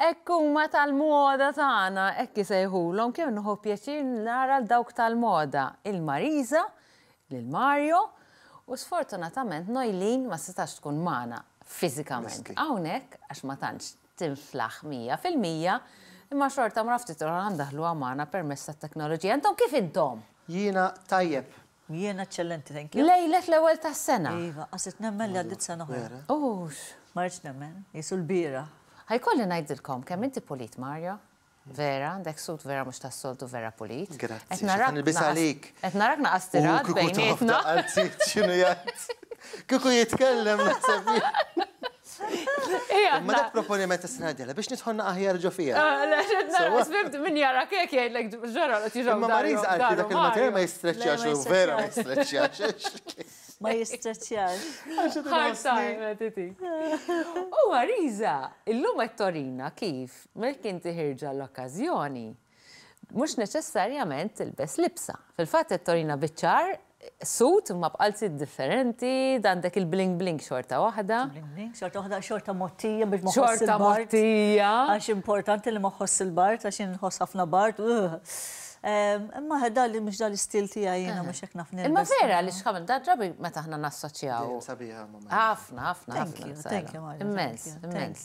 Hekk huma tal-moda tagħna, hekk isejħulhom, kemm nieħu pjaċir nara 'l dawk tal-moda, il Marisa, lil Mario, u sfortunatament Noeleen ma setax tkun magħna fiżikament hawnhekk għax ma tantx tinflaħ 100%, imma xorta mra ftit oħra ndaħluha magħna permezz tat-teknoloġija. Intom kif intom? Jiena tajjeb. Jiena eċċellenti, thank you. Lejlet l-ewwel tas-sena. Iva, qasit nemmen li għaddiet sena oħra. Ux. Ma rridx nemmen, jisu l-bieraħ. Ħa jkolli ngħidilkom kemm inti pulit, Mario. Vera, għandek suit vera mhux tas-soltu vera pulit. Grazzi. Qed narak għalik. Qed narak naqas tirat bejnietna. X'inhu jgħid? Kieku jitkellem naħseb. Ma dak proponiment tas-sena d biex nidħolna aħjar ġo fija. Sfimt min jara kek jgħidlek ġara li tiġu. Ma Marisa għalti dak il-materjal ma jistreċċjax u vera ma jistreċċjax. Ma jistreċċjax. Hard time, titi. U Marisa, illum qed torina kif meta inti ħirġa l-okkażjoni, mhux neċessarjament tilbes libsa. Fil-fatt qed torina biċ-ċar suit imma b'qalziet differenti, għandek il-bling bling xorta waħda. Bling bling, xorta waħda, xorta mottija biex ma ħoss Xorta mottija. Għax importanti li ma ħoss il-bard, għax inħoss ħafna bard. Imma ħeda li mhux dal-istil tiegħi jiena mhux hekk naf Imma vera li x'ħamil da drabi meta aħna nassoċjaw. Sabiħa, Ħafna, ħafna, Thank you, thank you, Mario. Immens, immens.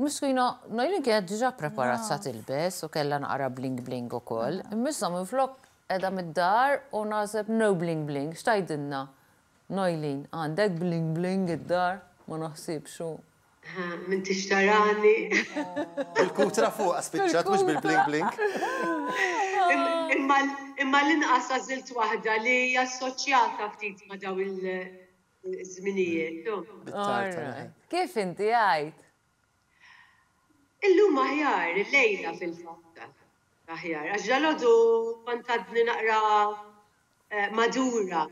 Miskina, Noeleen kienet diġà preparat sa tilbes u kellha naqra bling bling ukoll. Imma issa minflok qiegħda mid-dar u naħseb no bling bling, x'tgħidilna? Noeleen, għandek bling bling id-dar? Ma naħsibx hu. Min tixtarani. Bil-kutra fuq spiċċat mhux bil-bling bling. Imma l-inqas għażilt waħda li hija assoċjata ftit ma' daw il-żminijiet. Kif inti għajt? Illum aħjar, illejla fil-fatt. Aħjar, għax dalgħodu kont għadni naqra madura.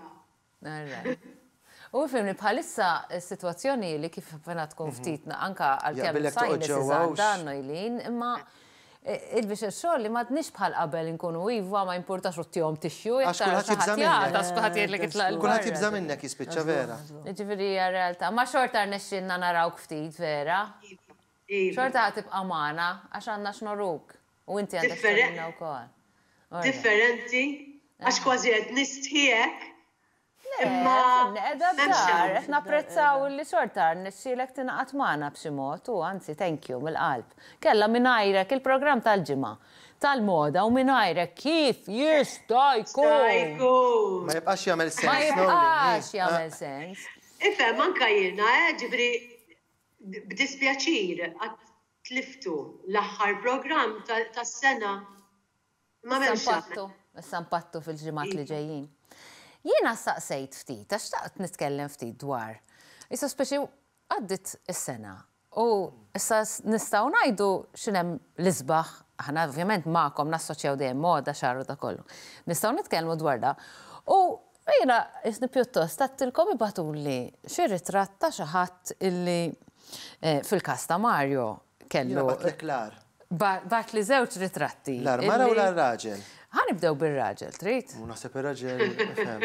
U fimni bħalissa s-sitwazzjoni li kif appena tkun ftit anka għalkemm sinuses għandha Noeleen, imma il-biċċa xogħol li m'għadniex bħal qabel inkunu iva ma jimpurtax u ttihom tissue jekk tara xi ħadd jagħtas kulħadd jgħidlek itlaq 'il Kulħadd jibża' minnek jispiċċa vera. Jiġifieri hija realtà. Ma xorta rnexxielna narawk ftit vera. Xorta ħa tibqa' magħna għax għandna x'noruk. U inti għandek x'turina wkoll. Differenti għax kważi qed nistħi hekk Imma qiegħda d-dar, qed napprezzaw li xorta rnexxielek tingħaqad magħna b'xi mod u anzi thank you mill-qalb. Kellha mingħajrek il-programm tal-ġimgħa tal-moda u mingħajrek kif jista' jkun? Ma jibqax jagħmel sens. Ma jibqax jagħmel sens. Ifhem anke jiena, eh, ġifieri b'dispjaċir għad tliftu l-aħħar programm tas-sena. Ma m'hemmx Issa issa npattu fil-ġimgħat li ġejjin. Jiena staqsejt ftit, għax xtaqt nitkellem ftit dwar. Issa speċi għaddit is-sena u issa nistgħu ngħidu x'inhemm l-isbaħ, aħna ovvjament magħkom nassoċjaw dejjem moda, xagħar u da kollu. Nistgħu nitkellmu dwar da. U jiena isni pjuttost għedtilkom ibagħtuli xi ritratt ta' xi ħadd illi fil-każ ta' Mario kellu. Jiena bagħtlek l-agħar. Bagħatli żewġ ritratti. L-agħar mara u l-agħar raġel? Ħa nibdew bir-raġel, trid? U naħseb ir-raġel, ifhem.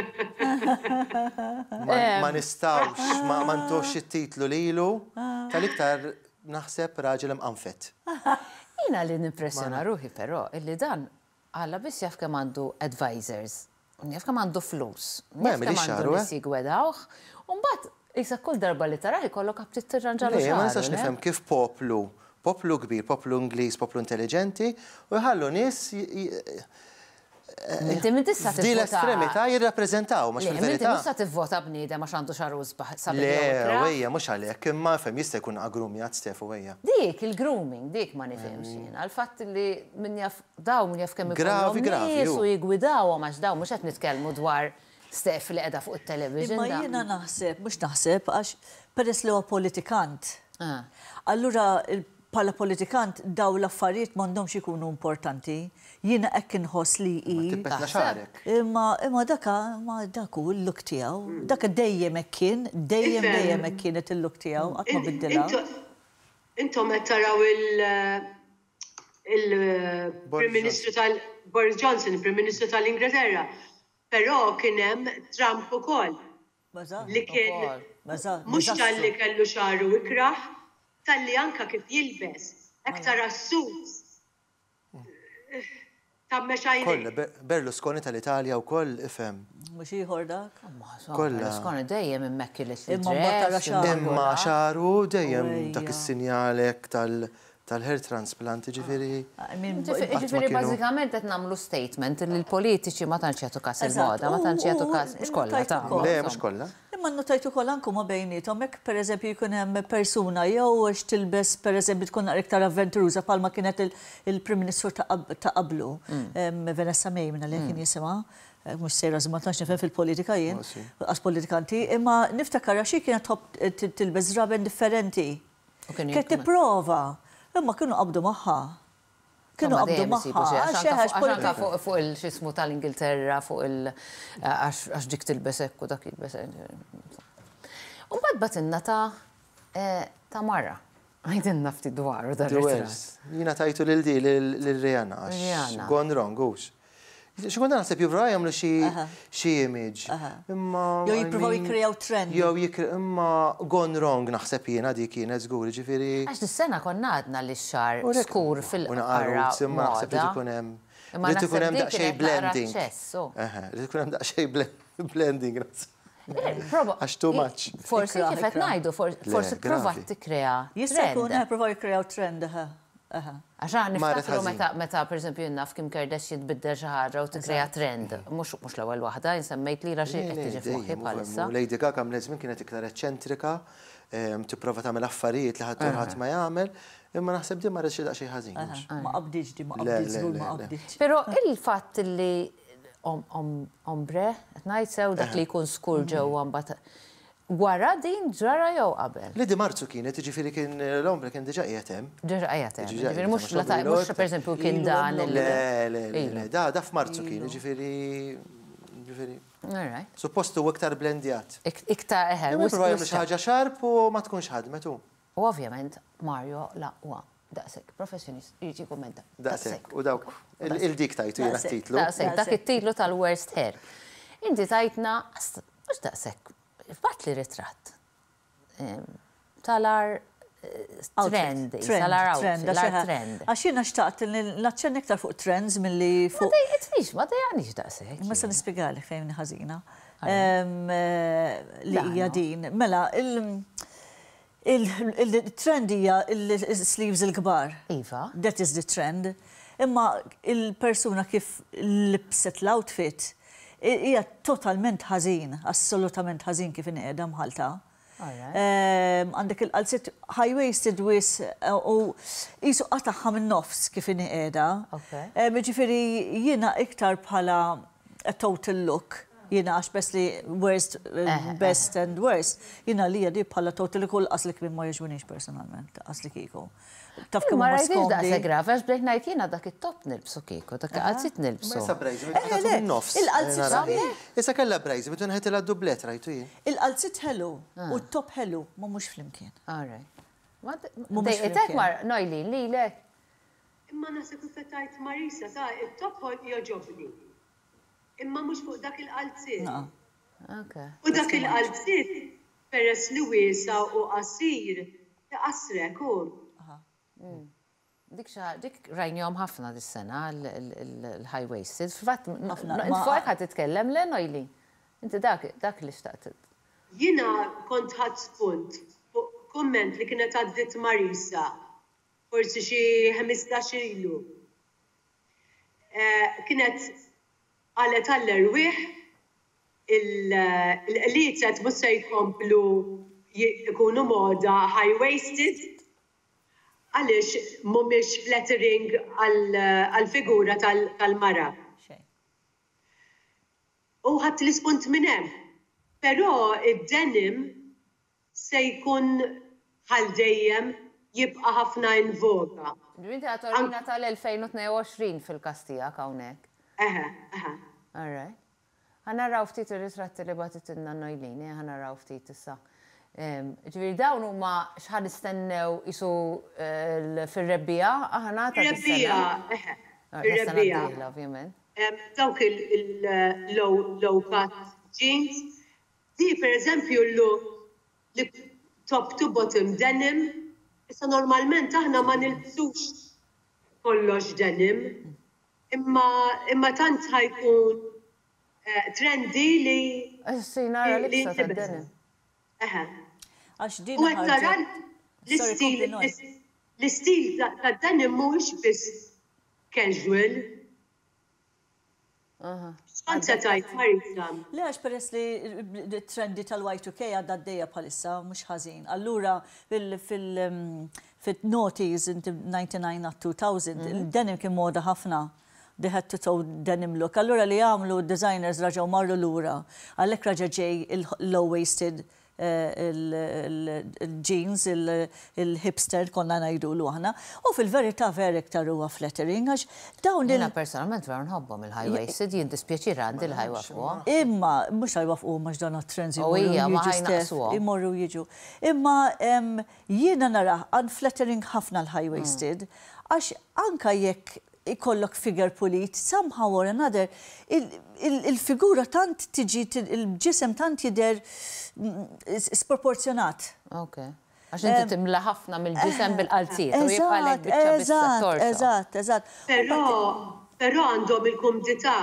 Ma nistgħux, ma ntuhx it-titlu lilu tal-iktar naħseb raġel imqanfed. Jiena li nimpressjona ruħi però illi dan Alla biss jaf kemm għandu advisors, jaf kemm għandu flus, jaf kemm għandu nies jiggwedawh, u mbagħad qisek kull darba li tarah ikollok aptit tirranġalu xagħru. Le, ma nistax nifhem kif poplu, poplu kbir, poplu Ingliż, poplu intelliġenti, u jħallu nies Inti minn tista' tivvota. F'din l-estremità jirrappreżentaw, mhux fil-verità. Inti mhux sa tivvota bniedem għax għandu xagħru isbaħ sabiħ jew ikrah. Le, ejja, mhux għalhekk, imma ifhem jista' jkun aggrumjat Stefu ejja. Dik il-grooming, dik ma nifhimx jiena. Il-fatt li min jaf Dawn min jaf kemm ikollhom nies u jiggwidawhom għax dawn mhux qed nitkellmu dwar Steph li qiegħda fuq it-television. Imma jiena naħseb, mhux naħseb, għax peress li huwa politikant, allura bħala politikant dawn l-affarijiet m'għandhomx ikunu importanti. Jiena hekk inħoss li hi. Ma tippetna xagħrek. Imma imma daka imma dak hu l-look tiegħu. Dak dejjem hekk kien, dejjem dejjem hekk kienet il-look tiegħu, qatt ma biddilha. Intom qed taraw il il-Prim Ministru tal Boris Johnson, il-Prim Ministru tal-Ingilterra. Però kien hemm Trump ukoll. Li kien mhux talli kellu xagħru ikrah, talli anke kif jilbes. Hekk tara s-suits tgħammex għajnejk. Kollha, Berlusconi tal-Italja wkoll ifhem. Mhux ieħor dak? Kollha. Berlusconi dejjem immaculate Imma mbagħad tara xagħru. Imma xagħru dejjem dak is-sinjal hekk tal-hair transplant, jiġifieri. Jiġifieri bażikament qed nagħmlu statement li l-politiċi ma tantx jagħtu kas il-moda, ma tantx jagħtu kas, mhux kollha ta'. Le, mhux kollha. Imma nnotajt ukoll anke huma bejniethom jekk pereżempju jkun hemm persuna jew għax tilbes pereżempju tkun naqra iktar avventuruża bħalma kienet il-Prim Ministru ta' qablu, Vanessa May minn għalija kien jisimha, mhux sejra żgur ma tantx nifhem fil-politika jien, lanqas politikanti, imma niftakar għax hi kienet tħobb tilbes żraben differenti. Kienet tipprova, imma kienu qabdu magħha. Kienu qabdu magħha. Għax anka fuq il-xismu tal-Ingilterra, fuq il- għax dik tilbes hekk u dak jilbes hekk. U mbagħad bagħtilna ta' ta' mara. Għidilna ftit dwaru dan ir-ritratt. Jiena tajtu lil di lil Rihanna għax gone wrong hux. Xi kultant naħseb jippruvaw jagħmlu xi xi image. Imma. Jew jippruvaw jikkreaw trend. Jew jikkre imma gone wrong naħseb jiena dik kienet żgur, jiġifieri. Għax dis-sena konna għadna li x-xagħar skur fil-qarra. U naqra roots imma naħseb irid ikun hemm. Imma Irid ikun hemm daqsxejn blending. Eħe, irid ikun hemm daqsxejn blending naħseb. Għax too much. Forsi kif qed ngħidu, forsi ppruvat tikkrea. Jista' jkun, eħe, ppruvaw jikkreaw trend, eħe. Għax aħna niftakru meta, meta pereżempju jien naf Kim Kardashian tbiddel xi ħaġa u tikkrea trend. Mhux mhux l-ewwel waħda, jien semmejt lilha xi qed tiġi f'moħħi bħalissa. Lady Gaga għamlet żmien kienet iktar eċċentrika, tipprova tagħmel affarijiet li ħadd ħadd ma jagħmel, imma naħseb din marret xi daqsxejn ħażin. Ma qabditx din, ma qabditx żgur ma qabditx. Però il-fatt li ombre, qed ngħid sew dak li jkun skur ġewwa mbagħad Wara din ġara jew qabel? Le di Marzu kienet, jiġifieri kien l-ombre kien diġà qiegħed hemm. Diġà qiegħed hemm. Jiġifieri mhux la mhux pereżempju kien dan il. Le, le, le, le, da da f'Marzu kien, jiġifieri jiġifieri. All right. Suppost hu iktar blendjat. Iktar eħe. Imma jipprovaw jagħmlu xi ħaġa sharp u ma tkunx ħadmet hu. U ovvjament Mario l-aqwa daqshekk professjonist irid jikkummenta. Daqshekk, u dawk il-dik tajtu jiena t-titlu. Daqshekk, dak it-titlu tal-worst hair. Inti tajtna mhux daqshekk Bagħatli ritratt tal-agħar trend, tal-agħar outfit, l-agħar trend. Għax jiena xtaqt li naċċenna iktar fuq trends milli fuq. Ma dejqitnix, ma dejjaqnix daqshekk. Imma se nispjegalek fejn hi ħażina. Li hija din. Mela, il-trend hija l-sleeves il-kbar. Iva. That is the trend. Imma il-persuna kif libset l-outfit Hija totalment ħażin, assolutament ħażin kif inhi qiegħda mħallta. Għandek il-qalziet high waisted wisq u qisu qatagħha min-nofs kif inhi qiegħda. Jiġifieri jiena iktar bħala a total look, jiena għax best li worst, best and worst, jiena għalija di bħala total look u lanqas li kmiem ma jogħġbunix personalment, lanqas li kieku. Taf kemm huma skomdi. Ma rajtix daqshekk gravi għax bdejt ngħid jiena dak it-top nilbsu kieku, dak il-qalziet nilbsu. Issa brejżi, meta nofs. Il-qalziet sabiħ. Issa kellha brejżi, meta nħetilha d-dublett rajtu jien. Il-qalziet ħelu u t-top ħelu, ma mhux flimkien. All right. Dejqitek mar, Noilene, lilek? Imma naħseb kif qed tgħid Marisa, sa it-top jogħġobni. Imma mhux fuq dak il-qalziet. U dak il-qalziet Peress li wiesa' u qasir, iqassrek hu. Dik xi ħaġa, dik rajnihom ħafna dis-sena l-high waisted. Fil-fatt, int fuq hekk ħa titkellem, le Noili? Inti dak dak li xtaqt. Jiena kont ħadt spunt fuq kumment li kienet għaddiet Marisa forsi xi 15 ilu. Kienet qalet għall-erwieħ Il-qliezet mhux se jkomplu jkunu moda high waisted għaliex mhumiex flattering għall-figura tal-mara. U ħadt l-ispunt minn hemm. Però d-denim se jkun bħal dejjem jibqa' ħafna in voga. Ġifieri inti qed torina tal-2022 fil-każ tiegħek hawnhekk. Eħe, eħe. All right. Ħa naraw ftit ir-ritratti li bagħtitilna Noeline, ejja ħa naraw ftit issa. Ġifieri dawn huma x'ħa nistennew qisu fir-rebbiegħa aħna ta' dis-sena. Fir-rebbiegħa, eħe. Fir-rebbiegħa. dieħla ovvjament. Dawk il-low cut jeans. Di pereżempju l-look li top to bottom denim. Issa normalment aħna ma nilbsux kollox denim, imma imma tant ħa jkun trendy li Issa nara libsa ta' denim. Eħe. Għax din U qed tara l-istil l-istil ta' denim mhuwiex biss casual. X'kont se tgħid Marisa? Le għax peress li t-trendi tal-Y2K għadha għaddejja bħalissa mhux ħażin. Allura fil-noughties 99 għat-2000 il-denim kien moda ħafna. The head to toe denim look. Allura li għamlu d-designers raġgħu marru lura. Għalhekk raġa' ġej il-low waisted il-jeans, il-hipster konna ngħidulu aħna. U fil-verità vera iktar huwa flattering għax dawn il- Jiena personalment vera nħobbhom il-high waisted, jien dispjaċir għandi li ħa jwaffquhom. Imma mhux ħa jwaffquhom għax dawn għat-trends U hija ma ħa jnaqqsuhom. Imorru jiġu. Imma jiena narah unflattering ħafna l-high waisted għax anka jekk ikollok figure pulit, somehow or another, il-figura tant tiġi, il-ġisem tant jidher sproporzjonat. Ok. Għax inti timla ħafna mill-ġisem bil-qalziet u jibqalek biċċa biss torso. Eżatt, eżatt. Però, però għandhom il-kumdità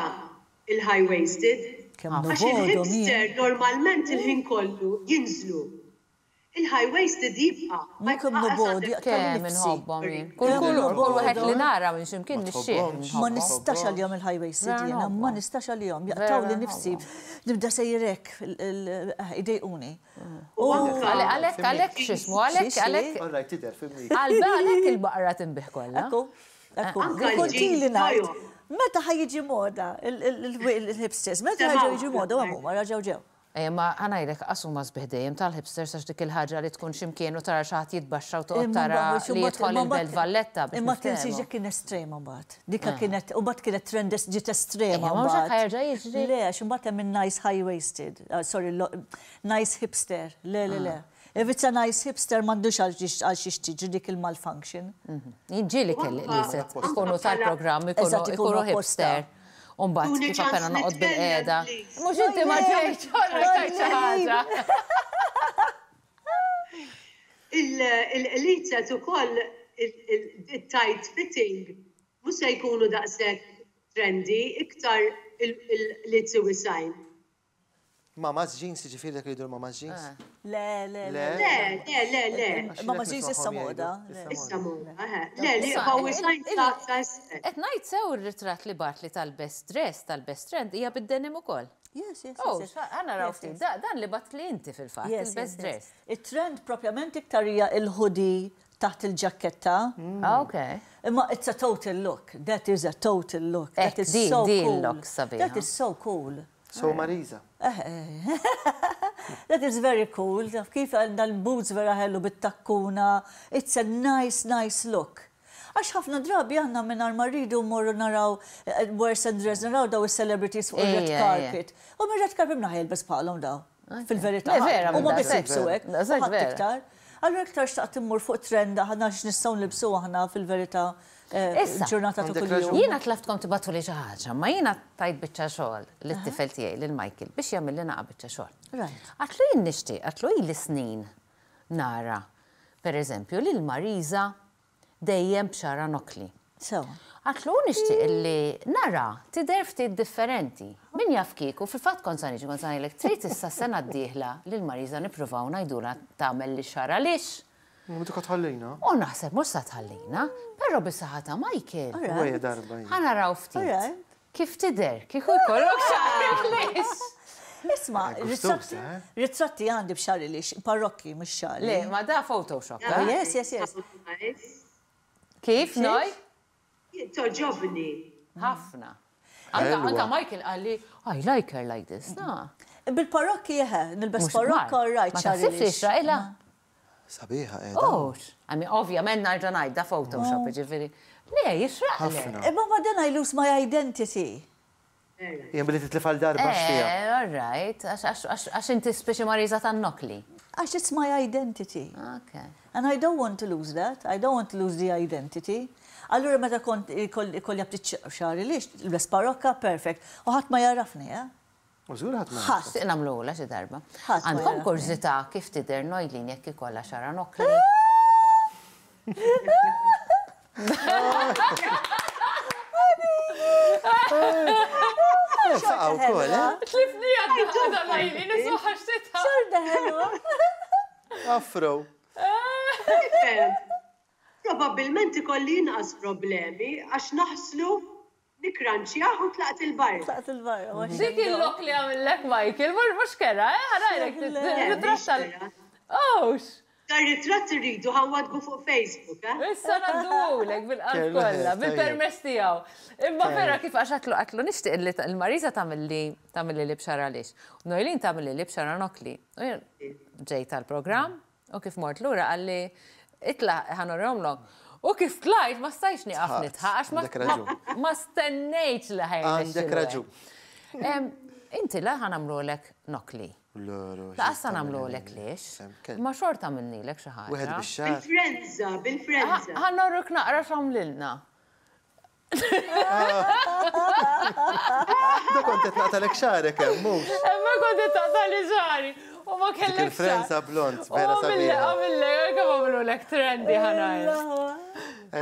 il-high waisted. Għax il-hipster normalment il-ħin kollu jinżlu. Il-high waisted jibqa'. Ma kemm nobgħod jaqtgħu Kemm nifsi. inħobbhom jien. Kull kulur, kull wieħed li nara minn x'imkien nixxieq Ma nħobbhom. nistax għalihom il-high waisted Vera jiena, ma nħobbhom. nistax għalihom. Jaqtgħuli Vera nifsi. nħobbhom. Nibda sejjer hekk, idejquni. U anka Għalhekk għalhekk x'ismu, għalhekk għalhekk All right, tidher fimni. għalhekk il-baqra tinbih kollha. Ekku, ekku. Anka Kont l-jeans ili ngħid, bajom. meta ħa jiġi moda il-hipsters, meta ħa jiġu moda, u huma raġgħu ġew. Ejja, ma ħa ngħidlek qas huma sbieħ dejjem tal-hipsters għax dik il-ħaġa li tkun xi mkien u tara xi ħadd jitbaxxa u toqgħod tara li jidħol il-Belt Valletta biex Imma tinsiex niftehmu. dik kien estrema mbagħad. Dika kienet, u mbagħad kienet trend ġiet estrema Ejja, ma mhux hekk mbagħad. ħa jerġa' jiġri. Le, għax imbagħad hemm in-nice high waisted, sorry, nice hipster. Le, le, le. If it's a nice hipster m'għandux għal xiex tiġri dik il-malfunction. Jien ġieli kelli li se ikunu tal-programm, Eżatt, ikunu ikunu apposta. hipster. U mbagħad Tuni kif ċans appena noqgħod nitkellem, bil-qiegħda. please. Mhux inti ma ġejtx, allura tajt xi ħaġa. Il-qliezet ukoll il-tight fitting mhux se jkunu daqshekk trendy, iktar il-qliezi wisgħin. Mama's jeans, jiġifieri dak li jgħidu l-mama's jeans? Le, le, le. Le, le, le, le. Mama's jeans issa moda. Issa moda, eħe. Le, li jibqgħu wisgħin sa isfel. Qed ngħid sew ir-ritratt li bagħatli tal-best dress, tal-best trend, hija bid-denim ukoll. Yes, yes, Oh, yes. ħa naraw ftit. Dan li bagħatli inti fil-fatt, il-best dress. Il-trend propjament iktar hija il-hoodie taħt il-ġaketta. Ah, ok. Imma it's a total look. That is a total look. That is so Din cool. look sabiħa. That is so cool. So Marisa. That is very cool. Taf kif għandha l-boots vera ħelu bit-takkuna. It's a nice, nice look. Għax ħafna drabi aħna mingħajr ma rridu mmorru naraw worse and dress, naraw daw is-celebrities fuq il-red carpet. U minn red carpet minn ħa jilbes bħalhom daw. Fil-verità. Le, vera, Huma minn biss daqshekk. jilbsu hekk. Daqshekk U ħadd vera. iktar. Allura iktar xtaqt immur fuq trend aħna x'nistgħu nilbsu aħna fil-verità Issa, ġurnata ta' għandek kuljum. raġun. Jiena tlaftkom tibgħatuli xi ħaġa, ma jiena tajt biċċa xogħol lit-tifel tiegħi lil Michael biex jagħmel li naqa' biċċa xogħol. Right. Għatlu jien nixtieq, għatlu ili snin nara, per eżempju, lil Marisa dejjem b'xagħarha nokli. Sewa. Għatlu nixtieq li nara tidher ftit differenti. Min jaf kieku, fil-fatt kont sa niġi kont sa ngħidlek trid issa sena d-dieħla lil Marisa nippruvaw ngħidulha tagħmel li xagħarha lix. Mhux tħallina. U naħseb mhux sa tħallina, però bis-saħħa ta' Michael. Wejja darba. Ħa naraw ftit. Alright. Kif tidher? Kieku jkollok xagħrek lix. Isma, Gustuża, eh? ritratti għandi b'xagħri lix, parrokki mhux xagħri. Le, ma da Photoshop. Oh, eh? yes, yes, yes. Nice. Kif noj? Togħġobni. Ħafna. Anka, Ħelwa. anka Michael qalli, I like her like this. Na. Bil-parrokki eħe, nilbes Mhux parrokka, mar. all right, Ma xagħri taħsibx li lix. xraqilha? Sabiħa qiegħda. Oh, I mean, ovvjament nerġa' ngħid da Photoshop, ġifieri. Le, jixraqlek. Ħafna. Imma ma then I lose my identity. Jien billi titlef għal darba x'fiha. Eh, all right, għax inti speċi Marisa tan-nokli. Għax it's my identity. Okay. And I don't want to lose that. I don't want to lose the identity. Allura meta kont ikolli ftit xagħri lix, nilbes parokka, perfect. U ħadd ma jarafni, eh? U żgur ħadd ma. Ħadd. Nixtieq nagħmluha xi darba. Ħadd ma Għandkom jarafni. kurżità kif tidher Noilin jekk ikollha xagħarha nokli? Faqgħu wkoll, eh? Tlifni għadda għadha nisma' ħaxtitha. Xorta ħelwa. Afro. Probabbilment ikolli inqas problemi għax naħslu, nikkranċjah u tlaqt 'il barra. Tlaqt 'il barra. Dik il-look li għamillek Michael, mhux kerha, eh? Ħa ngħidlek, ritratt tal. Ux! Dar-ritratt irridu ħa nwaddbu fuq Facebook, eh? Issa ngħadduhulek bil-qalb kollha, bil-permess tiegħu. Imma vera kif għax għatlu għatlu nixtieq li l-Marisa tagħmilli tagħmilli li b'xara għaliex. U Noeline tagħmilli li b'xara nokli. U jien ġejt għall-programm u kif mort lura qalli itla' ħa nurihomlok. U kif tlajt ma stajtx nieqaf nidħaq għax ma stennejtx li ħa jirnexxilu. Għandek raġun. Inti la ħa nagħmlulek nokli. Laqas sa nagħmlulek lix. Ma xorta għamilnilek xi ħaġa. Wieħed bix-xagħar. Bil-frenża, bil-frenża. Ħa norruk naqra x'għamlilna. Da kont qed naqtalek xagħrek hemm, mhux? Hemmhekk kont qed taqtali xagħri. U ma kellek. Il-frenza blond, vera sabiħa. Għamillek, kemm għamlulek trendy ħa ngħid.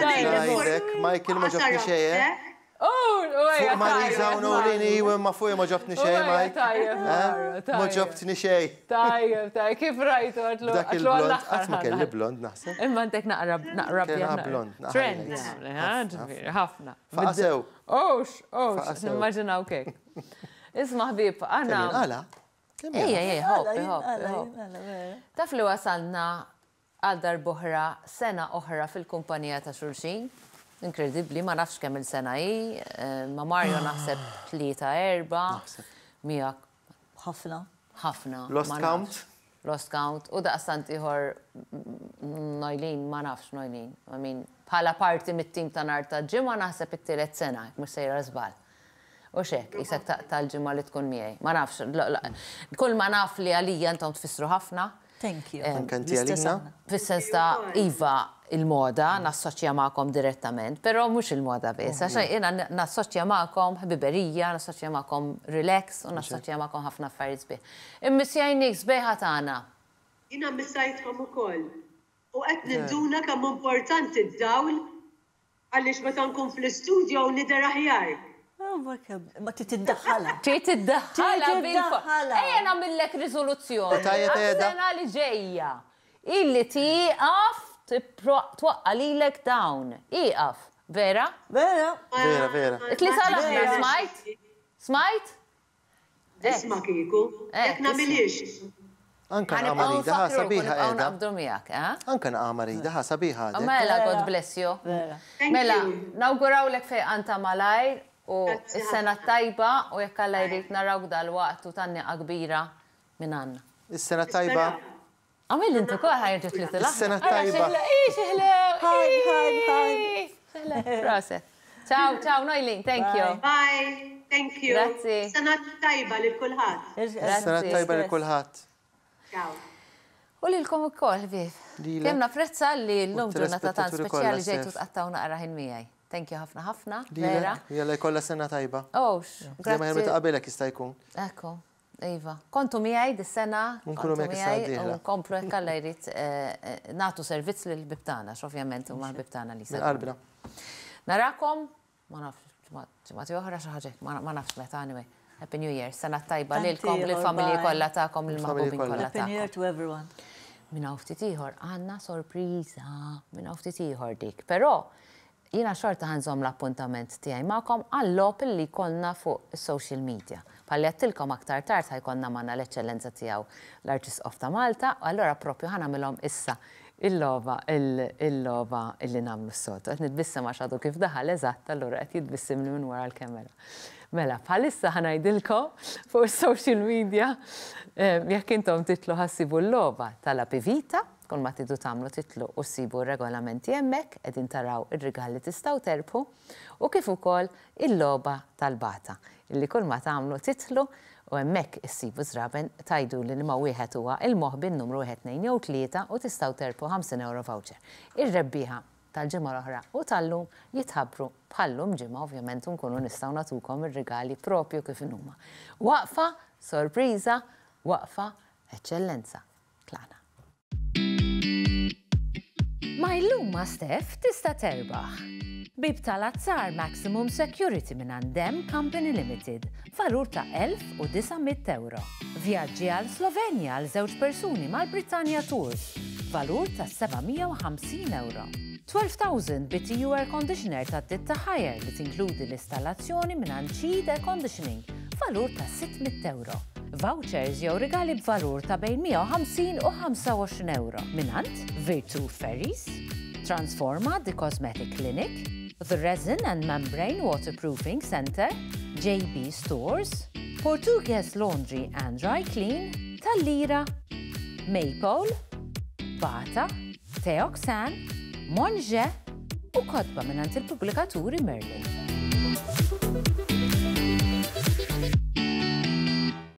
Ngħidlek, Michael ma ġobni xejn. Eh? Fuq Marisa u Nolini, iwe ma fuq ma ġobtni xejn, Mike. Tajjeb, eh? Ma ġobtni xejn. Tajjeb, tajjeb, kif rajtu għatlu. Dak il-blond, qatt ma kelli blond naħseb. Imma għandek naqra naqra blond. Trend, ħafna. Faqasew. Ox, ox, nimmaġinaw kek. Isma' ħbieb, għana. Għala? Ejja, ejja, hop, hop. Taf li wasalna Għal darb'oħra, sena oħra fil-kumpanija ta' xulxin. Inkredibbli, ma nafx kemm-il sena hi. Ma' Mario naħseb tlieta, erbgħa. Naħseb. Miegħek. Ħafna. Ħafna. Lost count? Lost count. U daqstant ieħor Noeline, ma nafx Noeline. I mean, bħala parti mit-tim ta' nhar ta' Ġimgħa naħseb it-tielet sena, jekk mhux sejra żball. Hux hekk, qisek taqta' l-ġimgħa li tkun miegħi. Ma nafx, kull ma naf li għalija intom tfissru ħafna. Thank you. Anke inti għalina. Fis-sens ta' iva il-moda nassoċja magħkom direttament, però mhux il-moda biss, għax jiena nassoċja magħkom ħbiberija, nassoċja magħkom relax u nassoċja magħkom ħafna affarijiet sbieħ. Immissjajnik sbejħa tagħna. Jiena mmissajtkom ukoll. U qed ninduna kemm hu importanti d-dawl Għaliex meta nkun fl-istudio nidher aħjar. Ma trid tiddaħħalha. Trid tiddaħħalha bil-forma. Ejja nagħmillek riżoluzzjoni għas-sena li ġejja. Illi tieqaf twaqqa' lilek dawn. Ieqaf. Vera? Vera. Vera, vera. It-tlieta l-aħħar smajt? Smajt? Isma' kieku, jekk nagħmilhiex. Anka naqa' marida ħa sabiħa qiegħda. Naqbdu miegħek, eh? Anka naqa' marida ħa sabiħa għadek. Mela, God bless you. Mela, nawgurawlek fejqan ta' malajr u s-sena t-tajba u jekk Alla jrid narawk dalwaqt u tgħanniqa kbira minn għandna. Is-sena t-tajba. Għamil inti kol ħajġu tliet il Sena tajba. Hi, hi, hi. Proset. Ciao, ciao, Noilin, thank you. Bye, thank you. Grazzi. Sena tajba lil kulħadd. Sena tajba lil kulħadd. Ciao. U lilkom ukoll, ħbieb. Kemm napprezza li llum ġurnata tant speċjali ġejtu tqattgħu naqra ħin miegħi. Thank you ħafna ħafna, vera. Jalla jkollha sena tajba. Ox, grazzi. Ma ta' qabelek jista' jkun. Ekku. Iva. Kontu miegħi dis-sena, Nkunu kontu miegħek is-sena miegħi u d-dieħla. nkomplu hekk Alla jrid nagħtu servizz lill-ħbieb tagħna, għax ovvjament huma l-ħbieb tagħna li Minn jsegwuna. qalbna. Narakom, ma nafx, ġimgħat oħra xi ħaġa hekk, ma nafx meta anyway. Happy New Year, sena tajba Tant lilkom, ieħor, lill-familji bye. kollha tagħkom, Lill-familji lill-maħbubin kollha. kollha Happy New Year tagħkom. to everyone. Minn hawn ftit ieħor għandna sorpriża, minn hawn ftit ieħor dik. Però Jiena xorta ħa nżomm l-appuntament tiegħi magħkom għal-logħob li jkollna fuq is-social media. Bħalli għedtilkom aktar tard ħa jkollna magħna l-Eċċellenza Tiegħu l-Arċisqof ta' Malta u allura proprju ħa nagħmilhom issa il-logħba il-logħba li nagħmlu s-soltu. Qed nitbissem għax għadu kif daħal eżatt allura qed jitbissimli minn wara l-kemera. Mela, bħalissa ħa ngħidilkom fuq is-social media jekk intom titlu ħa ssibu l-logħba tal-Apivita. Kull ma tridu tagħmlu titlu u ssibu r-regolamenti hemmhekk, qegħdin taraw ir-rigal li tistgħu terbħu u kif ukoll il-logħba tal-bata illi kull ma tagħmlu titlu u hemmhekk issibu żraben tgħiduli liema wieħed huwa il-moħbi n-numru wieħed tnejn jew tlieta u tistgħu terbħu 50 ewro voucher. Ir-rebbieħa tal-ġimgħa l-oħra u tal-lum jitħabbru bħal-lum ġimgħa ovvjament u nkunu nistgħu nagħtukom ir-rigali propju kif inhuma. Waqfa, sorpriża, waqfa, eċċellenza. Tlaqna. Ma' Illum ma' Steph tista' terbaħ. Bieb tal-azzar Maximum Security mingħand Dem Company Limited b'valur ta' 1,900 ewro. Vjaġġi għal Slovenja għal żewġ persuni mal-Britannia Tours b'valur ta' 750 ewro. 12,000 BTU air conditioner tad-ditta Haier li tinkludi l-istallazzjoni mingħand Cheed Air Conditioning b'valur ta' 600 ewro. Vouchers jew rigali b'valur ta' bejn 150 u 25 ewro mingħand Virtu Ferries, Transforma The Cosmetic Clinic, The Resin and Membrane Waterproofing Centre, JB Stores, Portugues Laundry and Dry Clean, Tal-Lira, Maypole, Bata, Teoxane, Monge u kotba mingħand il-pubblikaturi Merlin.